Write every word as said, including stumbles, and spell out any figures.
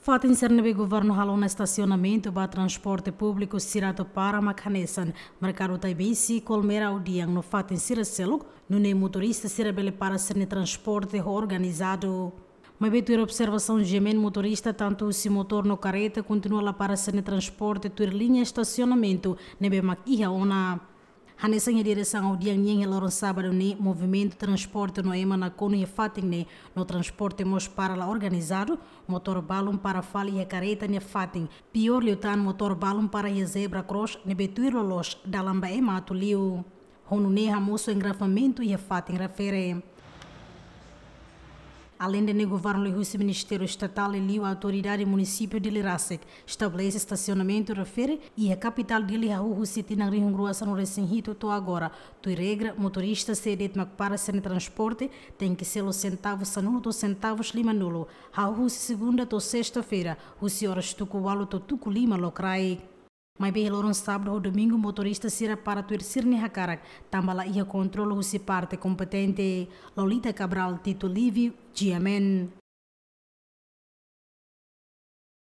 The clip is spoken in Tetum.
Fatin sira ne'ebé governu halo ona estasionamentu ba transporte públiku sira atu para mak hanesan Merkadu Taibesi, Kolmera, Audian no fatin sira seluk, nune'e motorista sira bele para sira-nia transporte ho organizadu. Maibé tuir observasaun GMN, motorista tantu husi motór no karreta kontinua la para sira-nia transporte tuir liña estasionamentu ne'ebé mak iha ona. Hanesan iha diresaun Audian nian iha loron sábadu ne'e, movimentu transporte no ema nakonu iha fatin ne'e, no transporte mós para la organizadu, motór balun para fali iha karreta nia fatin. Piór liután, motór balun para iha zebra cross ne'ebé tuir loloos dalan ba ema atu liu. Ho nune'e hamosu engarrafamentu iha fatin refere. Aleinde ne'e, governu liuhusi Ministériu Estatál liuliu Autoridade Munisípiu Dili rasik estabelese estasionamentu refere iha kapitál Dili hahú husi tinan rihun rua sanulu resin hitu to'o agora. Tuir regra, motorista sé de'it mak para sira-nia transporte tenke selu sentavu sanulu to'o sentavu limanulu, hahú husi segunda to'o sesta-feira, husi oras tuku ualu to'o tuku lima lokraik. Maibé iha loron sábadu ho domingu motorista sira para tuir sira-nia hakarak, tanba la iha kontrolu husi parte kompetente. Lolita Cabral, Tito Livio, GMN.